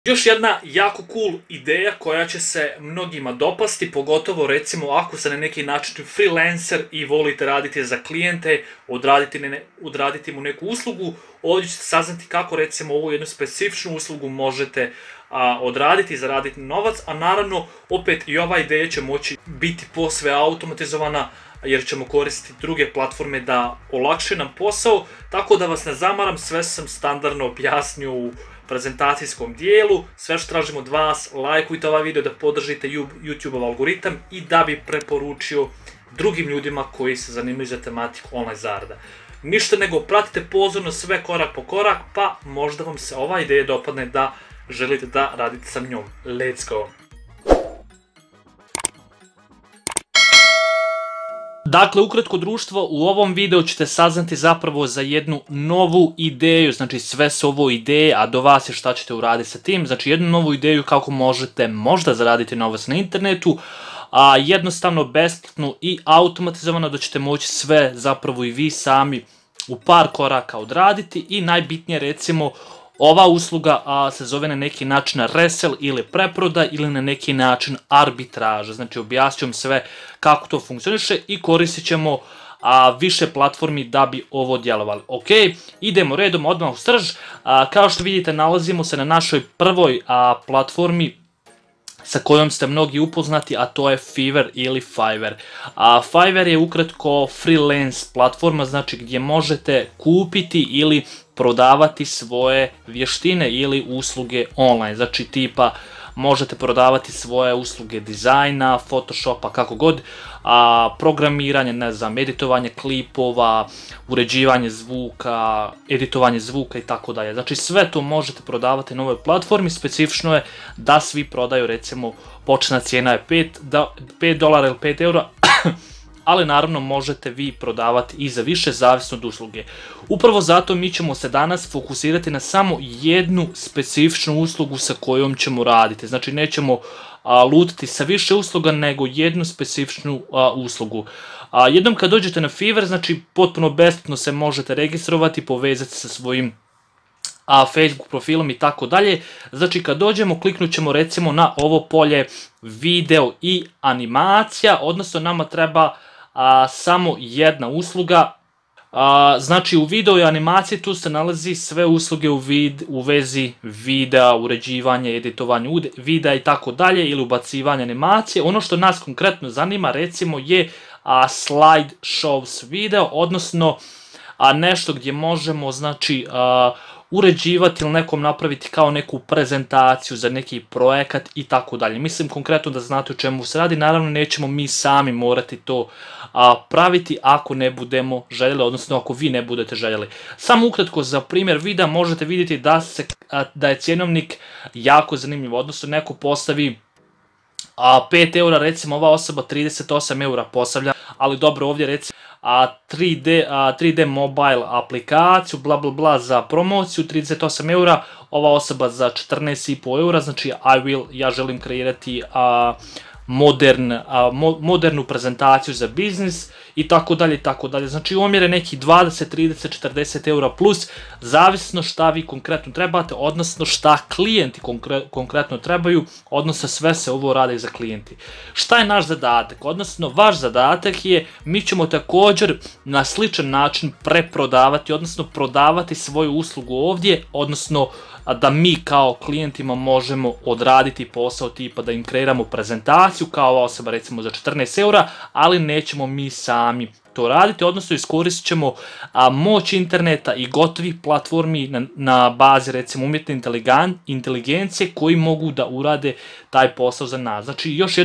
Još jedna jako cool ideja koja će se mnogima dopasti, pogotovo recimo ako ste na neki način freelancer i volite raditi za klijente, odraditi mu neku uslugu, ovdje ćete saznati kako recimo ovu jednu specifičnu uslugu možete odraditi i zaraditi novac, a naravno opet i ova ideja će moći biti posve automatizovana jer ćemo koristiti druge platforme da olakše nam posao, tako da vas ne zamaram, sve sam standardno objasnio u prezentacijskom dijelu. Sve što tražimo od vas, lajkujte ovaj video da podržite YouTube-ov algoritam i da bi preporučio drugim ljudima koji se zanimaju za tematiku online zarada. Ništa nego pratite pozorno sve korak po korak, pa možda vam se ova ideja dopadne da želite da radite sa njom. Let's go! Dakle, ukratko društvo, u ovom videu ćete saznati zapravo za jednu novu ideju, znači sve su ovo ideje, a do vas je šta ćete uraditi sa tim, znači jednu novu ideju kako možete možda zaraditi novac na internetu, a jednostavno, besplatno i automatizovano da ćete moći sve zapravo i vi sami u par koraka odraditi i najbitnije recimo ova usluga se zove na neki način resell ili preprodaj ili na neki način arbitraža. Znači objasnit ću sve kako to funkcioniše i koristit ćemo više platformi da bi ovo djelovali. Ok, idemo redom odmah u srž. Kao što vidite nalazimo se na našoj prvoj platformi sa kojom ste mnogi upoznati, a to je Fiverr ili Fiverr. Fiverr je ukratko freelance platforma, znači gdje možete kupiti ili prodavati svoje vještine ili usluge online. Znači tipa možete prodavati svoje usluge dizajna, photoshopa, kako god, programiranje, ne znam, editovanje klipova, uređivanje zvuka, editovanje zvuka i tako dalje. Znači sve to možete prodavati na ovoj platformi, specifično je da svi prodaju, recimo početna cijena je $5 ili 5 eura, ali naravno možete vi prodavati i za više, zavisno od usluge. Upravo zato mi ćemo se danas fokusirati na samo jednu specifičnu uslugu sa kojom ćemo raditi. Znači nećemo lutati sa više usluga, nego jednu specifičnu uslugu. Jednom kad dođete na Fiverr, znači potpuno besplatno se možete registrovati, povezati sa svojim Facebook profilom i tako dalje. Znači kad dođemo, kliknut ćemo recimo na ovo polje video i animacija, odnosno nama treba samo jedna usluga. Znači u video i animaciji tu se nalazi sve usluge u vezi videa, uređivanje, editovanje videa i tako dalje ili ubacivanje animacije. Ono što nas konkretno zanima recimo je slide shows video, odnosno nešto gdje možemo znači uređivati ili nekom napraviti kao neku prezentaciju za neki projekat i tako dalje. Mislim konkretno da znate o čemu se radi, naravno nećemo mi sami morati to praviti ako ne budemo željeli, odnosno ako vi ne budete željeli. Samo ukratko za primjer videa možete vidjeti da je cjenovnik jako zanimljiv, odnosno neko postavi 5 eura, recimo ova osoba 38 eura postavlja, ali dobro ovdje recimo 3D mobile aplikaciju, bla bla bla za promociju, 38 eura, ova osoba za 14,5 eura, znači ja želim kreirati modernu prezentaciju za biznis i tako dalje i tako dalje. Znači omjer je neki 20, 30, 40 eura plus, zavisno šta vi konkretno trebate, odnosno šta klijenti konkretno trebaju, odnosno sve se ovo radi za klijenti. Šta je naš zadatak? Odnosno vaš zadatak je, mi ćemo također na sličan način preprodavati, odnosno prodavati svoju uslugu ovdje, odnosno da mi kao klijentima možemo odraditi posao tipa da im kreiramo prezentaciju kao ova osoba recimo za 14 eura, ali nećemo mi sami to raditi, odnosno iskoristit ćemo moć interneta i gotovih platformi na bazi recimo umjetne inteligencije koji mogu da urade taj posao za nas. Znači još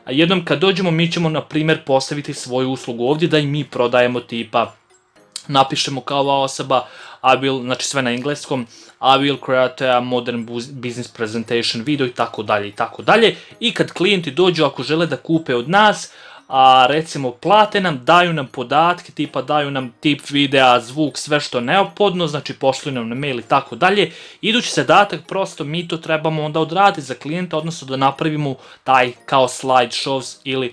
jednom kad dođemo mi ćemo na primjer postaviti svoju uslugu ovdje da i mi prodajemo tipa, napišemo kao ova osoba, znači sve na engleskom, I will create a modern business presentation video i tako dalje i tako dalje. I kad klijenti dođu, ako žele da kupe od nas, recimo plate nam, daju nam podatke, tipa daju nam tip videa, zvuk, sve što je neophodno, znači pošli nam na mail i tako dalje. Idući zadatak, prosto mi to trebamo onda odraditi za klijenta, odnosno da napravimo taj kao slide shows ili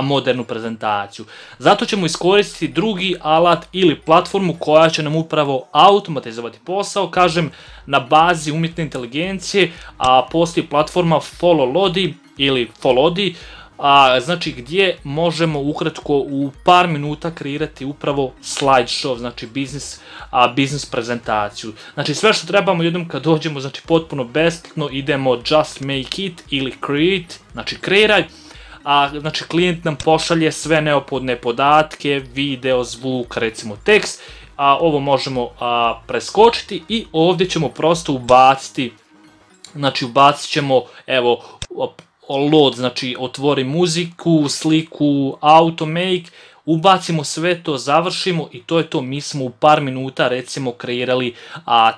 modernu prezentaciju. Zato ćemo iskoristiti drugi alat ili platformu koja će nam upravo automatizovati posao. Kažem, na bazi umjetne inteligencije, a postoji platforma Followlody ili Followdy, znači gdje možemo ukratko u par minuta kreirati upravo slideshow, znači biznis prezentaciju. Znači sve što trebamo jednom kad dođemo, znači potpuno besplatno, idemo just make it ili create, znači kreiraj. Znači klijent nam pošalje sve neophodne podatke, video, zvuk, recimo tekst, ovo možemo preskočiti i ovdje ćemo prosto ubaciti, znači ubacit ćemo, evo, load, znači otvori muziku, sliku, automake, ubacimo sve to, završimo i to je to. Mi smo u par minuta recimo kreirali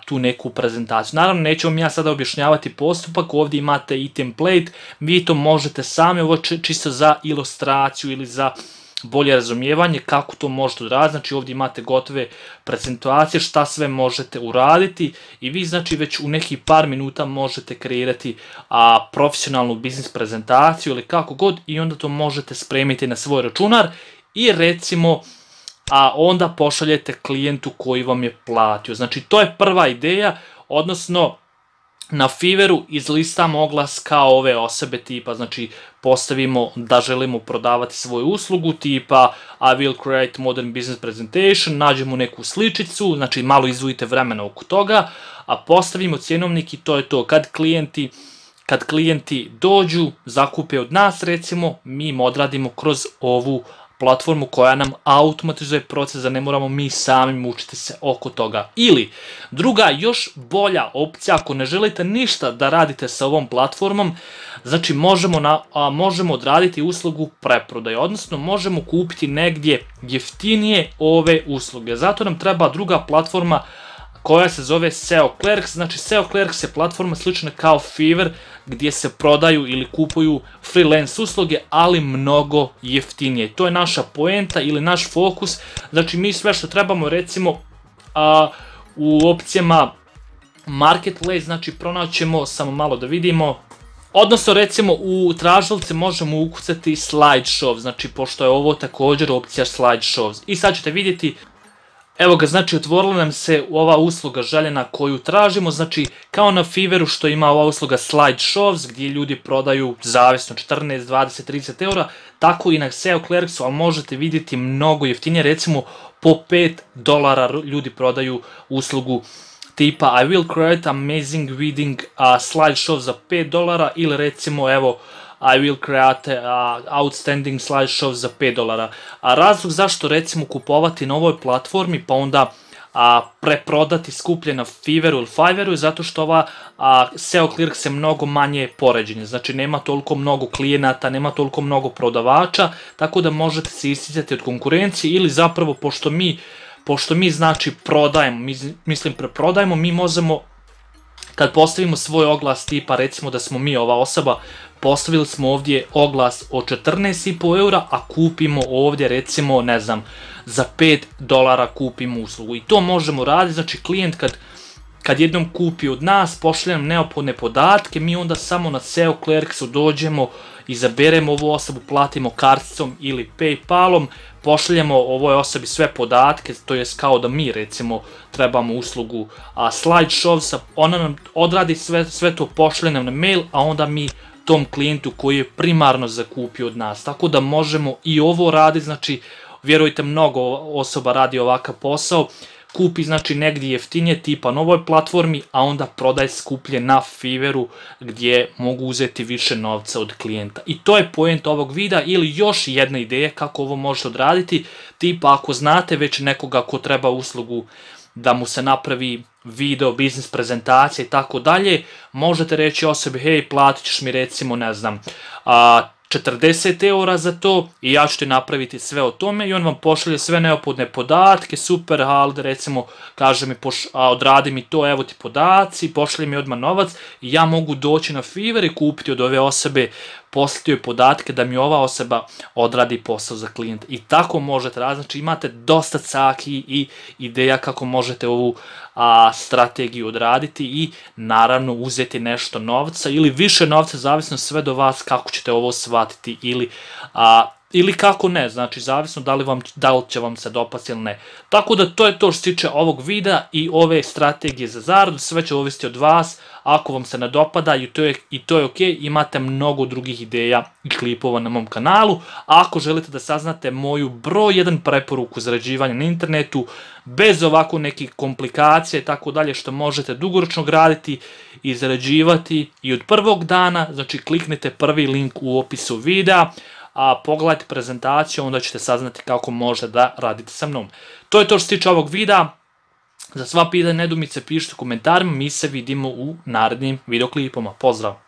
tu neku prezentaciju. Naravno neću vam ja sada objašnjavati postupak, ovdje imate i template, vi to možete sami, ovo čisto za ilustraciju ili za bolje razumijevanje kako to možete uraditi. Znači ovdje imate gotove prezentacije, šta sve možete uraditi i vi znači već u nekih par minuta možete kreirati profesionalnu biznis prezentaciju ili kako god i onda to možete spremiti na svoj računar i recimo onda pošaljete klijentu koji vam je platio. Znači to je prva ideja, odnosno na Fiverru izlistamo oglas kao ove osobe tipa, znači postavimo da želimo prodavati svoju uslugu tipa I will create modern business presentation, nađemo neku sličicu, znači malo izdvojite vremena oko toga, a postavimo cjenovnik i to je to. Kad klijenti dođu, zakupe od nas recimo, mi im odradimo kroz ovu platformu koja nam automatizuje proces, da ne moramo mi sami mučiti se oko toga. Ili druga još bolja opcija, ako ne želite ništa da radite sa ovom platformom, znači možemo odraditi uslugu preprodaje, odnosno možemo kupiti negdje jeftinije ove usluge. Zato nam treba druga platforma koja se zove SEO Clerks. Znači SEO Clerks je platforma slična kao Fiverr gdje se prodaju ili kupuju freelance usluge, ali mnogo jeftinije. To je naša poenta ili naš fokus. Znači mi sve što trebamo recimo u opcijama Marketplace, znači pronaćemo, samo malo da vidimo, odnosno recimo u tražilice možemo ukucati slideshow, znači pošto je ovo također opcija slideshows. I sad ćete vidjeti, evo ga, znači otvorila nam se ova usluga željena koju tražimo, znači kao na Fiverru što ima ova usluga slideshows gdje ljudi prodaju zavisno 14, 20, 30 eura, tako i na SEO Clerksu, ali možete vidjeti mnogo jeftinije, recimo po $5 ljudi prodaju uslugu tipa I will create amazing wedding slideshow za $5 ili recimo evo I will create outstanding slideshow za $5. A razlog zašto recimo kupovati na ovoj platformi pa onda preprodati skuplje na Fiverru ili Fiverru je zato što ova SEO Clerks je mnogo manje poređenje, znači nema toliko mnogo klijenata, nema toliko mnogo prodavača, tako da možete se isticati od konkurencije ili zapravo pošto mi znači prodajemo, preprodajemo, mi možemo kad postavimo svoj oglas tipa recimo da smo mi ova osoba, postavili smo ovdje oglas od 14,5 eura, a kupimo ovdje recimo ne znam za $5 kupimo uslugu i to možemo raditi. Znači klijent kad jednom kupi od nas, pošalje nam neophodne podatke, mi onda samo na SEO Clerksu dođemo, izaberemo ovu osobu, platimo karticom ili Paypalom, pošaljemo ovoj osobi sve podatke, to je kao da mi recimo trebamo uslugu slideshowsa, ona nam odradi sve to, pošalje nam na mail, a onda mi tom klijentu koji je primarno zakupio od nas. Tako da možemo i ovo raditi, znači vjerujte mnogo osoba radi ovakav posao, kupi znači negdje jeftinije tipa na ovoj platformi, a onda prodaj skuplje na Fiverru gdje mogu uzeti više novca od klijenta. I to je point ovog videa. Ili još jedna ideja kako ovo možete odraditi, tipa ako znate već nekoga ko treba uslugu da mu se napravi video, biznis prezentacija i tako dalje, možete reći osobi hej, platit ćeš mi recimo ne znam 40 eura za to i ja ću ti napraviti sve o tome i on vam pošalje sve neophodne podatke, super, ali recimo kaže mi odradi mi to, evo ti podaci, pošalje mi odmah novac i ja mogu doći na Fiverr i kupiti od ove osobe, poslati joj podatke da mi ova osoba odradi posao za klijenta. I tako možete raditi, znači imate dosta caki i ideja kako možete ovu strategiju odraditi i naravno uzeti nešto novca ili više novca, zavisno sve do vas kako ćete ovo shvatiti ili ili kako ne, znači zavisno da li će vam se dopasti ili ne. Tako da to je to što se tiče ovog videa i ove strategije za zaradu, sve će ovisiti od vas. Ako vam se ne dopada i to je ok, imate mnogo drugih ideja i klipova na mom kanalu. A ako želite da saznate moju broj 1 preporuku zarađivanja na internetu, bez ovako nekih komplikacija i tako dalje, što možete dugoročno graditi i zarađivati i od prvog dana, znači kliknite prvi link u opisu videa, a pogledajte prezentaciju, onda ćete saznati kako možete da radite sa mnom. To je to što se tiče ovog videa. Za sva pitanja, nedoumice pišite u komentarima, mi se vidimo u narednim videoklipama. Pozdrav!